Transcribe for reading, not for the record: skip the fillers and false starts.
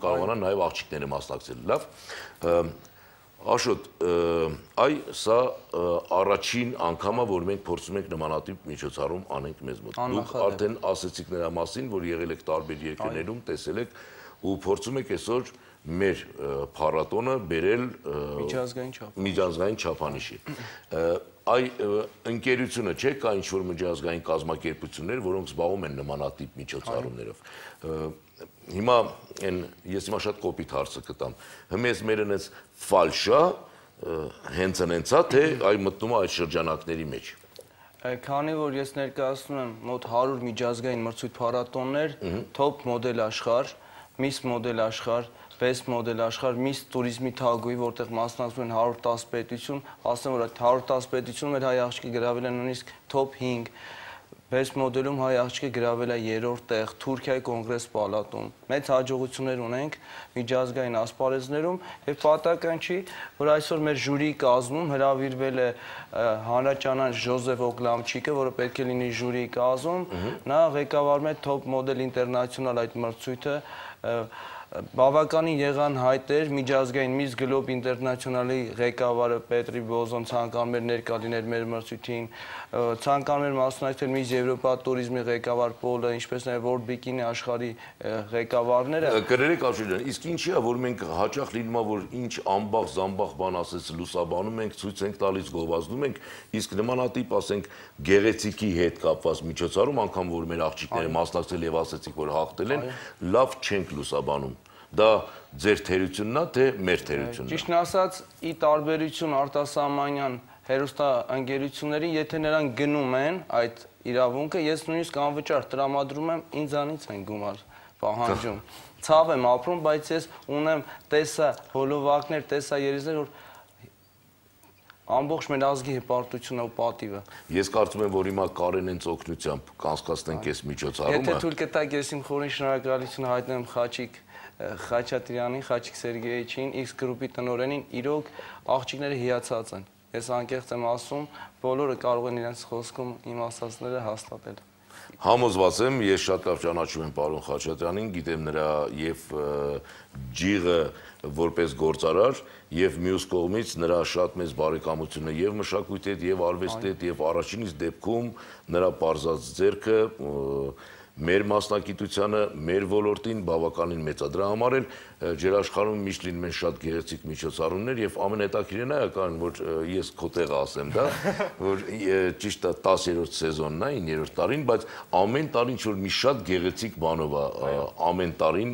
կարողանան նաև աղջիկները մասնակցել։ Լավ։ Աշոտ, սա առաջին անգամը, որ մենք փորձում ենք նմանատիպ միջոցառում անենք մեզ մոտ։ Դուք արդեն ասեցիք նրա մասին, որ եղել եք տարբեր երկրներում, տեսել եք ու փորձում եք այսօր մեր փառատոնը բերել միջազգային չափանիշի։ Այ ընկերությունը չէ, կա ինչ-որ միջազգային կազմակերպություններ, որոնք զբաղվում են նմանատիպ միջոցառումներով։ Հիմա ես հիմա շատ կոպիտ հարցը կտամ։ Հենց մեր այնպես ֆալշա հենց այնցա թե այ մտնում է այդ շրջանակների մեջ։ Քանի որ ես ներկայացնում եմ մոտ 100 միջազգային մրցույթ փառատոններ, top մոդել աշխարհ, Miss մոդել աշխարհ, Best մոդել աշխարհ, Miss туриզմի թագուհի, որտեղ մասնակցում են 110 պետություն, ասեմ որ այդ 110 պետությունում մեր հայ աղջիկը գրավել է նույնիսկ top 5, Best մոդելում հայ աղջիկը գրավել է 3-րդ տեղ, Թուրքիայի կոնգրես պալատում։ Մեծ հաջողություններ ունենք միջազգային ասպարեզներում եւ պատահական չի, որ այսօր մեր ժյուրիի կազմում հրավիրվել է հանրաճանաչ Ժոզեֆ Օգլամչիկը, որը պետք է լինի ժյուրիի կազմում, նա ղեկավարում է Top Model International այդ մրցույթը, բավականին եղան հայտեր միջազգային Miss Globe International-ի ղեկավարը Պետրի Բոզոն ցանկանում էր ներկա լինել մեր մրցույթին, ցանկանում էր մասնակցել Miss Եվրոպա туриզմի ղեկավար Պոլը, ինչպես նաև World Bikini աշխարհի ղեկավարները։ Կներեք Աշոտ, իսկ ինչի է, որ մենք հաճախ լինում է, որ ինչ ամբախ-զամբախ բան ասես լուսաբանում ենք, ցույց ենք տալիս, գովազդում ենք, իսկ նմանատիպ ասենք գեղեցիկի հետ կապված միջոցառում, անգամ որ մեր աղջիկները մասնակցել եւ ասեցիք, որ հաղթել են, լավ չենք լուսաբանում։ Դա ձեր թերությունն է, թե մեր թերությունն է։ Ճիշտն ասած, ի տարբերություն արտասահմանյան հեռուստաընկերությունների, եթե նրանք գնում են այդ իրավունքը, ես նույնիսկ անվճար տրամադրում եմ, ինձանից են գումար պահանջում։ Ցավ եմ ապրում, բայց ես ունեմ տեսա հոլովակներ, տեսա երիզներ, որ ամբողջ մեր ազգի հպարտությունը ու պատիվը։ Ես կարծում եմ, որ հիմա Կարենենց օգնությամբ կանցկացնենք այս միջոցառումը։ Եթե թույլ կտաք, ես իմ խորին շնորհակալությունը հայտնում եմ Խաչիկ Խաչատրյանին, Խաչիկ Սերգեյիչին, X գրուպի տնօրենին, իրոք աղջիկները հիացած են։ Ես անկեղծ եմ ասում, բոլորը կարող են իրենց խոսքում իմ ասածները հաստատել։ Համոզված եմ, ես շատ լավ ճանաչում եմ պարոն Խաչատրյանին, գիտեմ նրա եւ ջիղը որպես գործարար եւ մյուս կողմից նրա շատ մեծ բարեկամությունը եւ մշակույթի հետ եւ արվեստի հետ եւ առաջինից դեպքում նրա պարզած ձեռքը մեր մասնակիտությանը, մեր ոլորտին բավականին մեծ է։ Դրա համար էլ ջերաշխարհում միշտ լինում են շատ գեղեցիկ միջոցառումներ եւ ամենահետաքրքիրն է կան, որ ես քո տեղը ասեմ դա, որ ճիշտ է 10-րդ սեզոնն է, 9-րդ տարին, բայց ամեն տարի ինչ որ մի շատ գեղեցիկ բանով է ամեն տարին